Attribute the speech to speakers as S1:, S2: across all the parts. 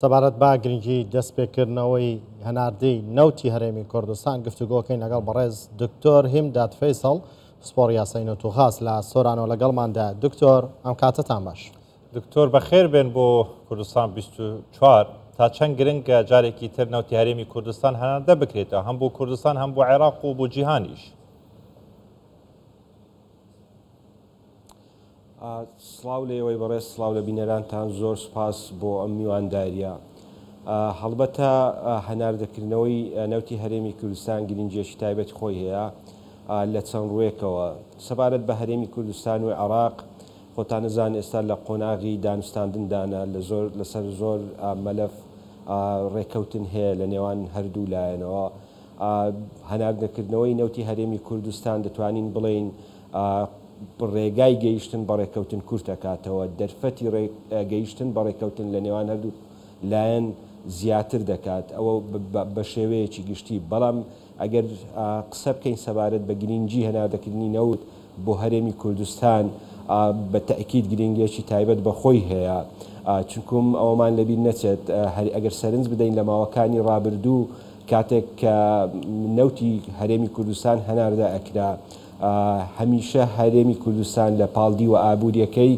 S1: سەبارەت بە گرنگی دەستپێکردنەوەی هەناردەی نەوتی هەرێمی کوردستان گفتوگۆکەین لەگەڵ بەڕێز دکتۆر هیمداد فەیسەڵ پسپۆڕی یاسای نەوت و غاز لە سۆرانەوە لەگەڵماندا. دکتۆر ئەم کاتەتان باش.
S2: دکتۆر بەخێر بێن بۆ کوردستان 24. تا چەند گرنگە جارێکی تر نەوتی هەرێمی کوردستان هەناردە بکرێتەوە هەم بۆ کوردستان هەم بۆ عێراق و بۆ جیهانیش؟
S3: سڵاو لە ئێوەی بەڕێز، سڵاو لە بینەرانتان، زۆر سوپاس بۆ ئەم میواندارییە. هەڵبەتە هەناردەکردنەوەی نەوتی هەرێمی کوردستان گرنگییەکی تایبەتی خۆی هەیە لە چەند ڕووێکەوە. سەبارەت بە هەرێمی کوردستان و عێراق، خۆتان ئەزانن ئێستا لە قۆناغی دانوستاندندانە، لە زۆر لەسەر زۆر مەلەف ڕێککەوتن هەیە لە نێوان هەردوو لایەنەوە. هەناردەکردنەوەی نەوتی هەرێمی کوردستان دەتوانین بڵێین ڕێگای گەیشتن بە ڕێککەوتن کورت ئەکاتەوە، دەرفەتی گەیشتن بە ڕێککەوتن لە نێوان هەردوو لایەن زیاتر دەکات، ئەوە بە شێوەیەکی گشتی، بەڵام ئەگەر قسە بکەین سەبارەت بە گرینگی هەناردەکردنی نەوت بۆ هەرێمی کوردستان بە تەئکید گرینگیەکی تایبەت بە خۆی هەیە، چونکوم ئەوەمان لەبیر نەچێت ئەگەر سەرنج بدەین لە ماوەکانی ڕابردوو کاتێک کە نەوتی هەرێمی کوردستان هەناردە ئەکرا هەمیشە هەرێمی کوردستان لە پاڵ دیوە ئابووریەکەی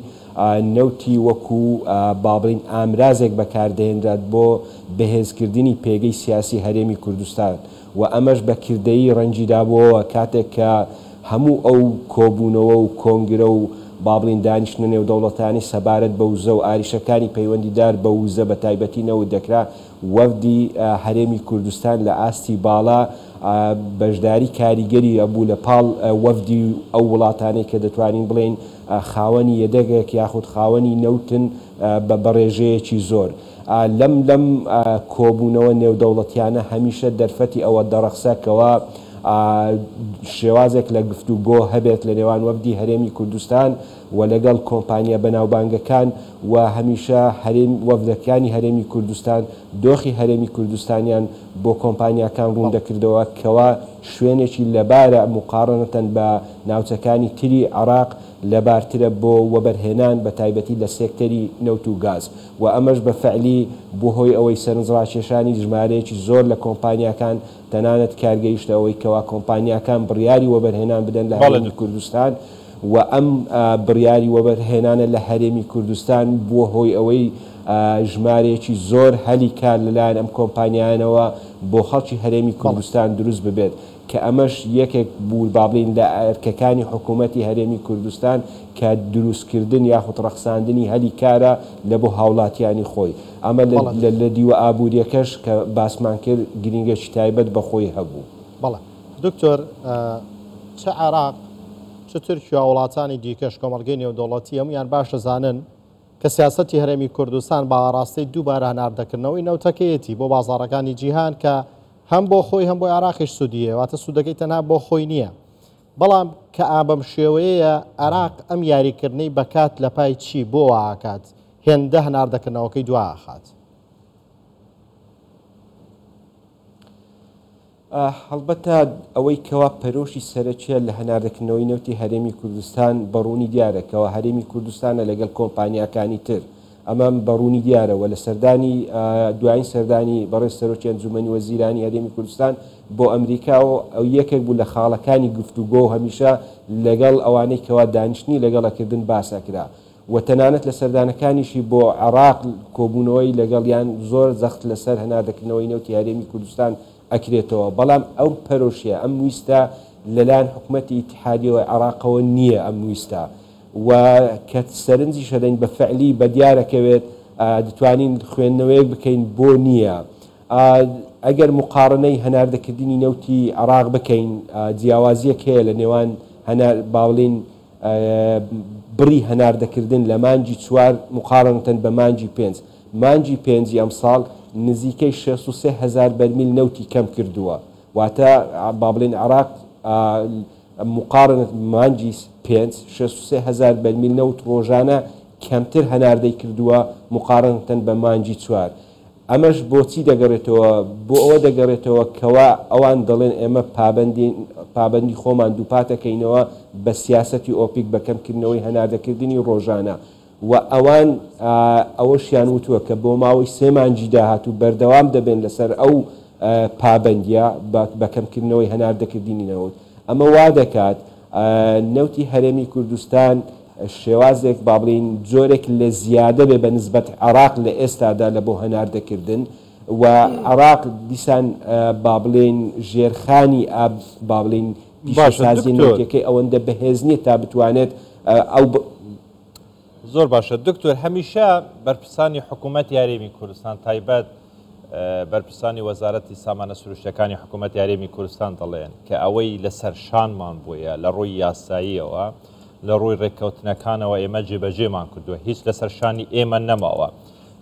S3: نەوتی وەکو با بڵێین ئامرازێک بەکاردەهێنرات بۆ بەهێزکردنی پێگەی سیاسی هەرێمی کوردستان و ئەمەش بە کردەیی ڕەنگی دابووەوە کاتێک کە هەموو ئەو کۆبوونەوە و کۆنگرە و با بڵێین دانیشتنە نێودەوڵەتانەی سەبارەت بە وزە و ئاریشەکانی پەیوەندیدار بە وزە بە تایبەتی نەوت دەکرا وەفدی هەرێمی کوردستان لە ئاستی باڵا بەشداری کاریگەری هەبوو لە پاڵ وەفدی ئەو وڵاتانەی کە دەتوانین بڵێین خاوەنی یەدەگێک یاخود خاوەنی نەوتن بە ڕێژەیەکی زۆر. لەم لەم کۆبوونەوە نێودەوڵەتیانە هەمیشە دەرفەتی ئەوە دەڕەخسا کەوا شێوازێک لە گفتوگۆ هەبێت لە نێوان وەفدی هەرێمی کوردستان و لەگەڵ کۆمپانیا بەناوبانگەکان و هەمیشە هەرێم وەفدەکانی هەرێمی کوردستان دۆخی هەرێمی کوردستانیان بۆ کۆمپانیاکان ڕوون دەکردەوە کەوا شوێنێکی لەبارە موقاڕنەتەن بە ناوچەکانی تری عێراق لەبارترە بۆ وەبەرهێنان بە تایبەتی لە سێکتەری نەوت و گاز و ئەمەش بە فەعلی بووە هۆی ئەوەی سەرنجڕاکێشانی ژمارەیەکی زۆر لە کۆمپانیاکان تەنانەت کار گەیشتە ئەوەی کەوا کۆمپانیاکان بڕیاری وەبەرهێنان بدەن لە هەرێمی کوردستان و ئەم بڕیاری وەبەرهێنانە لە هەرێمی کوردستان بووە هۆی ئەوەی ژمارەیەکی زۆر هەلی کار لەلایەن ئەم کۆمپانیایانەوە بۆ خەڵکی هەرێمی کوردستان دروست ببێت کە ئەمەش یەکێک بوو با بڵێین لە ئەرکەکانی حکوومەتی هەرێمی کوردستان کە دروستکردن یاخود ڕەخساندنی هەلی کارە لە بۆ هاوڵاتیانی خۆی. ئەمە لە دیوە ئابوورییەکەش کە باسمان کرد گرینگێکی تایبەت بە خۆی هەبوو.
S1: بەڵێ دکتۆر چ عێراق چ تورکیا وڵاتانی دیکەش کۆمەڵگەی نێودەوڵەتی هەموویان باش دەزانن کە سیاسەتی هەرێمی کوردستان بە ئاڕاستەی دووبارە هەناردەکردنەوەی نەوتەکەیەتی بۆ بازاڕەکانی جیهان کە هەم بۆ خۆی هەم بۆ عێراقیش سوودی هەیە واتە سوودەکەی تەنها بۆ خۆی نییە بەڵام کە ئا بەم شێوەیەیە عێراق ئەم یاریکردنەی بەکات لە پای چی بۆ وا ئەکات هێندە هەناردەکردنەوەکەی دوا ئەخات؟
S3: هەڵبەتە ئەوەی کەوا پەرۆشی سەرەکیە لە هەناردەکردنەوەی نەوتی هەرێمی کوردستان بە ڕوونی دیارە کەوا هەرێمی کوردستانە لەگەڵ کۆمپانیاکانی تر ئەمە بە ڕوونی دیارە و لە سەردانی دوایین سەردانی بەڕێز سەرۆکی ئەنجومەنی وەزیرانی هەرێمی کوردستان بۆ ئەمریکا و ئەو یەکێک بوو لە خاڵەکانی گفتوگۆ و هەمیشە لەگەڵ ئەوانەی کەوا دانیشتنی لەگەڵ ئەکردن باس ئەکرا و تەنانەت لە سەردانەکانیشی بۆ عێراق کۆبوونەوەی لەگەڵیان زۆر جەخت لەسەر هەناردەکردنەوەی نەوتی هەرێمی کوردستان ئەکرێتەوە، بەڵام ئەو پەرۆشیە، ئەم ویستە لەلایەن حکومەتی ئیتیحادیەوە عێراقەوە نییە ئەم ویستە و کە سەرنجیش ئەدەین بە فعلی بەدیارەکەوێت دەتوانین خوێندنەوەیەک بکەین بۆ نییە. ئەگەر موقاڕنەی هەناردەکردنی نەوتی عێراق بکەین جیاوازیەک هەیە لە نێوان هەنار باڵین بڕی هەناردەکردن لە مانگی چوار موقارەنەتەن بە مانگی پێنج، مانگی پێنجی ئەمساڵ نزیکەی 63 هەزار بەرمیل نەوتی کەم کردووە، واتە با بڵێین عێراق موقارەنەت بە مانگی پێنج 63 هەزار بەرمیل نەوت ڕۆژانە کەمتر هەناردەی کردووە موقارەنەتەن بە مانگی چوار. ئەمەش بۆچی دەگەڕێتەوە؟ بۆ ئەوە دەگەڕێتەوە کەوا ئەوان دەڵێن ئێمە پابەندین، پابەندی خۆمان دووپاتەکەینەوە بە سیاسەتی ئۆپیک بە کەمکردنەوەی هەناردەکردنی ڕۆژانە. و ئەوان ئەوەشیان وتووە کە بۆ ماوەی سێ مانگی داهاتوو بەردەوام دەبێن لەسەر ئەو پابەندییە بە کەمکردنەوەی هەناردەکردنی نەوت. ئەمە وا دەکات نەوتی هەرێمی کوردستان شێوازێک با بڵێین جۆرێک لە زیادە بێ بە نسبەت عێراق لە ئێستادا لە بۆ هەناردەکردن و عێراق دیسان با بڵێین ژێرخانی ئاب با بڵێین
S2: باشە
S3: پیشەسازیە
S2: دکتۆر.
S3: نەوتیەکەی ئەوەندە بەهێز نییە تا بتوانێت ئەو
S2: زۆر باشە دکتۆر هەمیشە بەرپرسانی حکوومەتی هەرێمی کوردستان تایبەت بەرپرسانی وەزارەتی سامانە سروشتەکانی حکوومەتی هەرێمی کوردستان دەڵێن کە ئەوەی لەسەر شانمان بووە لە ڕووی یاساییەوە لە ڕووی ڕێککەوتنەکانەوە ئێمە جێبەجێمان کردووە هیچ لەسەر شانی ئێمە نەماوە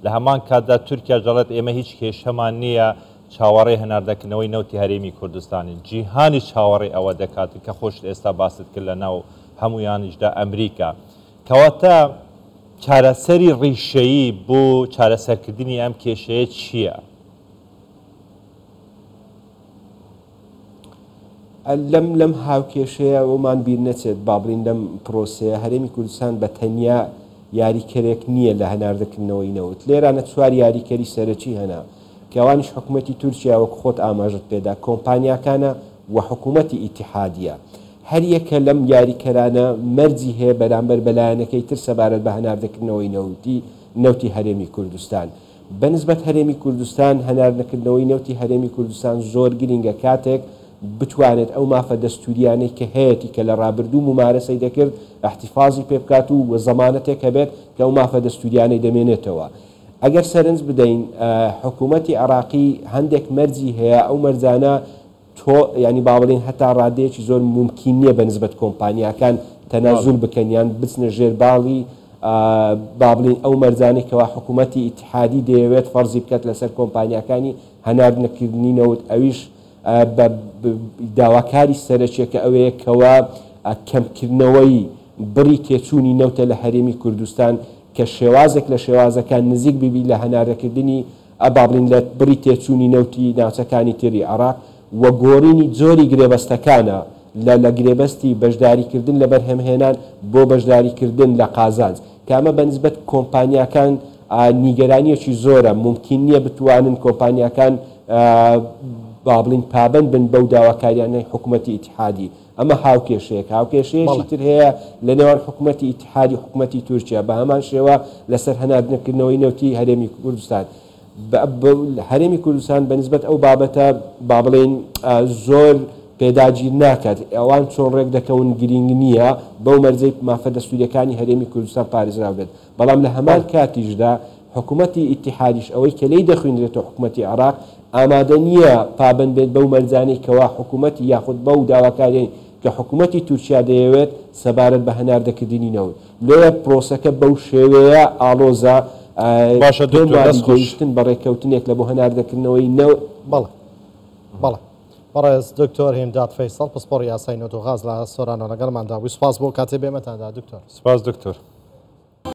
S2: لە هەمان کاتدا تورکیا دەڵێت ئێمە هیچ کێشەمان نییە چاوەڕێ هەناردەکردنەوەی نەوتی هەرێمی کوردستانین جیهانی چاوەڕێ ئەوە دەکات کە خۆشت ئێستا باست کرد لە ناو هەمویانیشدا ئەمریکا کەواتە چارەسەری ڕیشەیی بۆ چارەسەرکردنی ئەم کێشەیە چییە؟
S3: لەم لەم هاوکێشەیە ئەومان بیر نەچێت با بڵین لەم پرۆسەیە هەرێمی کوردستان بە تەنیا یاریکەرێک نییە لە هەناردەکردنەوەی نەوت لێرانە چوار یاریکەری سەرەکی هەنا کە ئەوانیش حکوومەتی تورکیا وەک خۆت ئاماژت پێدا کۆمپانیاکانە و حکوومەتی ئیتیحادیە هەریەکە لەم یاریکەرانە مەرجی هەیە بەرامبەر بە لایەنەکەی تر سەبارەت بە هەناردەکردنەوەی نەوتی نەوتی هەرێمی کوردستان. بەنسبەت هەرێمی کوردستان هەناردەکردنەوەی نەوتی هەرێمی کوردستان زۆر گرینگە کاتێک بتوانێت ئەو مافە دەستوریانەی کە هەیەتی کە لە ڕابردوو مومارەسەی دەکرد ئیحتیفازی پێ بکات و زەمانەتێک هەبێت کە ئەو مافە دەستوریانەی دەمێنێتەوە. ئەگەر سەرنج بدەین حکوومەتی عێراقی هەندێک مەرجی هەیە ئەو مەرجانە تۆ یانی با بڵێین هەتا ڕادەیەکی زۆر مومکین نییە بە نسبەت کۆمپانیاکان تەنازول بکەن یان بچنە ژێر باڵی با بڵێین ئەو مەرجانەی کەوا حکوومەتی ئیتیحادی دەیەوێت فەرزی بکات لەسەر کۆمپانیاکانی هەناردنەکردنی نەوت ئەویش بە داواکاری سەرەکیەکە ئەوەیە کەوا کەمکردنەوەی بڕی تێچوونی نەوتە لە هەرێمی کوردستان کە شێوازێک لە شێوازەکان نزیک ببی لە هەناردەکردنی با بڵێین لە بڕی تێچوونی نەوتی ناوچەکانی تری عێراق و گۆڕینی جۆری گرێبەستەکانە لە لە گرێبەستی بەشداریکردن لە بەرهەمهێنان بۆ بەشداریکردن لە قازانج کە ئەمە بە نسبەت کۆمپانیاکان نیگەرانییەکی زۆرە مومکین نییە بتوانن کۆمپانیاکان با بڵێین پابەند بن بەو داواکاریانەی حکومەتی ئیتیحادی. ئەمە هاوکێشەیەکە. هاوکێشەیەکی تر هەیە لە نێوان حکومەتی ئیتیحادی و حکومەتی تورکیا بە هەمان شێوە لەسەر هەناردنەکردنەوەی نەوتی هەرێمی کوردستان. هەرێمی کوردستان بە نسبەت ئەو بابەتە با بڵێین زۆر پێداگیر ناکات. ئەوان چۆن ڕێک دەکەون گرینگ نییە بەو مەرجەی مافە دەستوورییەکانی هەرێمی کوردستان پارێزراو بێت. بەڵام لە هەمان کاتیشدا حکومەتی ئیتیحادیش ئەوەی کە لێی دەخوینرێتەوە حکومەتی عێراق ئامادە نییە پابەند بێت بەو مەرجانەی کەوا حکومەتی یاخود بەو داواکاریەی کە حکومەتی تورکیا دەیەوێت سەبارەت بە هەناردەکردنی نەوت. لۆیە پرۆسەکە بەو شێوەیە ئاڵۆزە،
S2: باشە
S3: پێم
S2: دکتۆر
S3: وابی
S2: دەست خۆش.
S3: گەیشتن بە ڕێککەوتنێک لە بۆ هەناردەکردنەوەی نەوت.
S1: بەڵێ بەڵێ بەڕێز دکتۆر هیمداد فەیسەڵ پسپۆڕی یاسای نەوت و غاز لە سۆرانەوە لەگەڵماندا بووی سوپاس بۆ کاتێ بێمەتاندا دکتۆر.
S2: سپاس دکتۆر.